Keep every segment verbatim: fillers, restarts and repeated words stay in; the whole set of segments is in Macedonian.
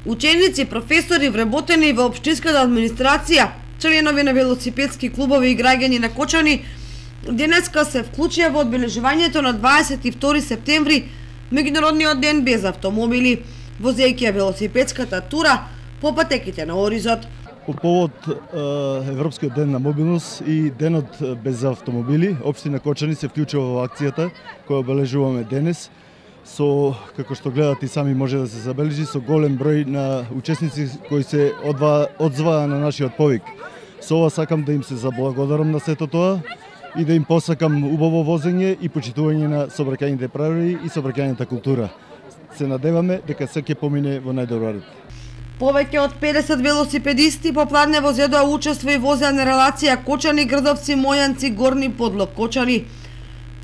Ученици, професори, вработени во општинската администрација, членови на велосипедски клубови и граѓани на Кочани денеска се вклучија во одбележувањето на дваесет и втори септември, меѓународниот ден без автомобили, возејќи велосипедската тура по патеките на Оризот. По повод Европскиот ден на мобилност и денот без автомобили, општина Кочани се вклучува во акцијата која обележуваме денес. Со, како што гледате и сами може да се забележи, со голем број на учесници кои се одзваа на нашиот повик. Со ова сакам да им се заблагодарам на сето тоа и да им посакам убаво возење и почитување на сообраќајните правила и сообраќајната култура. Се надеваме дека се ќе помине во најдобар ред. Повеќе од педесет велосипедисти по Пладнево зедоа учество и возеа на релација Кочани, Грдовци, Мојанци, Горни Подлог, Кочани.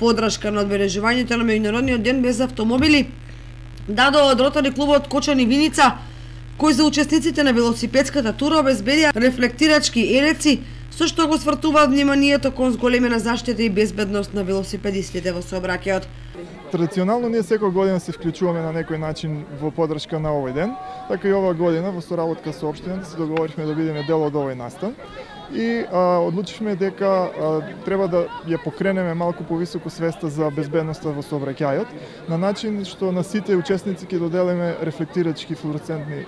Подршка на одбележувањето на меѓународниот ден без автомобили дадоа од Ротари клубот Кочани Виница, кој за учесниците на велосипедската тура обезбедија рефлектирачки елеци, со што го свртуваат вниманието кон зголемена заштита и безбедност на велосипедистите во сообраќајот. Традиционално ние секоја година се вклучуваме на некој начин во подршка на овој ден, така и оваа година во соработка со општината се договоривме да бидеме дел од овој настан и а, одлучивме дека а, треба да ја покренеме малку повисоко свеста за безбедноста во сообраќајот, на начин што на сите учесници ќе доделиме рефлектирачки флуоресцентни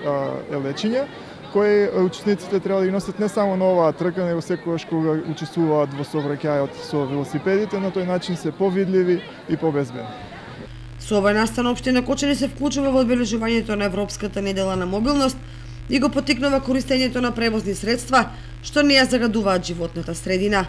елечиња, кои учесниците треба да ги носат не само на оваа трка, него секогаш кога учествуваат во сообраќајот со велосипедите, на тој начин се повидливи и побезбедни. Со овој настан општина Кочани се вклучува во одбележувањето на Европската недела на мобилност и го поттикнува користењето на превозни средства што не ја загадуваат животната средина.